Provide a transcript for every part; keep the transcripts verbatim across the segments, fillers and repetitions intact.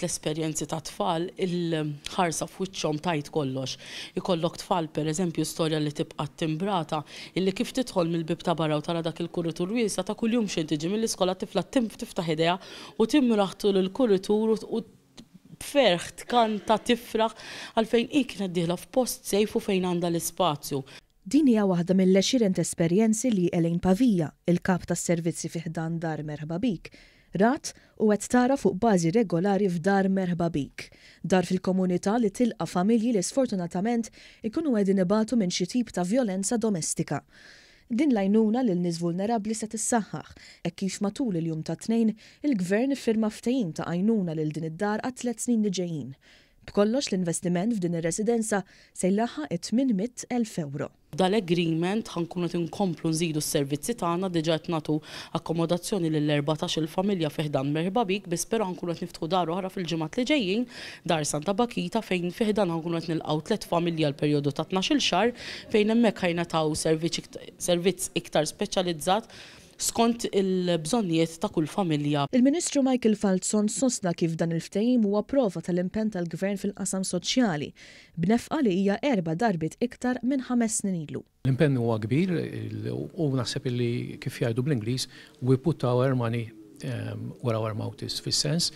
L-esperjenzi ta' tfal, il-ħarsa f'wiċċhom tgħid kollox. Ikollok tfal, per eżempju, storja li tibqa' timbrata, illi kif tidħol mill-bib ta' barra u tara dak il-kuritur wiesa' ta' kuljum xejn tiġi mill-iskola tifla tiftaħ idejha u timraħ tul il-kuritur u b'ferħ tkanta, tifraħ, għalfejn hi kienet dieħla f'post safe u fejn għandha l-ispazju. Din hija waħda mill-għexieren esperjenzi li Elaine Pavia, il-kap tas-servizzi fi ħdan Dar Merħba Bik, rat u qed tara fuq bażi regolari f'Dar Merħba Bik. Dar fil-komunità li tilqa' familji li sfortunatament ikunu qegħdin ibatu minn xi tip ta' vjolenza domestika. Din l-għajnuna lil nies vulnerabbli se tissaħħaħ hekk kif matul il-jum ta' Tnejn il-Gvern iffirma ftehim ta' għajnuna lil din id-dar għat tliet snin li ġejjin. B'kollox l-investiment f'din ir-residenza se jlaħħaq it-tmien mitt elf euro. Dal-agreement ħa nkunu qed inkomplu nżidu s-servizzi tagħna, diġà qed nagħtu akkomodazzjoni lil erbatax-il familja fi ħdan Merħba Bik, biss però ħa nkunu qed niftħu dar oħra fil-ġimgħat li ġejjin, Dar Santa Bakita, fejn fi ħdan ħa nkunu qed nilqgħu tliet familja għal perjodu ta' tnax-il xahar, fejn hemmhekk ħajnataw servizz iktar speċjalizzat skont il-bżonnijiet ta' kull familja. Il-Ministru Michael Falzon sostna kif dan il-ftehim huwa prova tal-impenn tal-Gvern fil-qasam soċjali, b'nefqa li hija erba' darbiet iktar minn ħames snin ilu. L-impenn huwa kbir u naħseb li kif jgħidu bl-Ingliż, we put our money, um, where our mouth is, fis-sens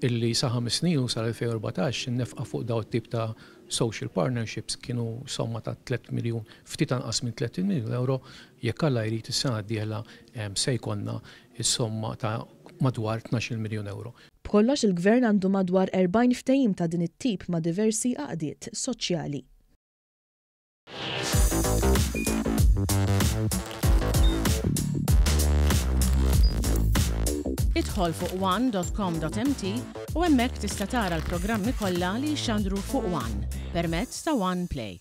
illi sa ħames snin u sal-elfejn u erbatax in-nefqa fuq daw it-tip ta' social partnerships kienu somma ta' tliet miljun, ftit anqas minn tliet miljun euro, jekk Alla jrid is-sena d-dieħla, em, se jkollna is-somma ta' madwar tnax-il miljun euro. B'kollox il-Gvern għandu madwar erbgħin ftehim ta' din it-tip ma' diversi għaqdiet soċjali. Idħol fuq one dot com dot M T u hemmhekk tista' tara l-programmi kollha li jxandru fuq One permezz ta' One Play.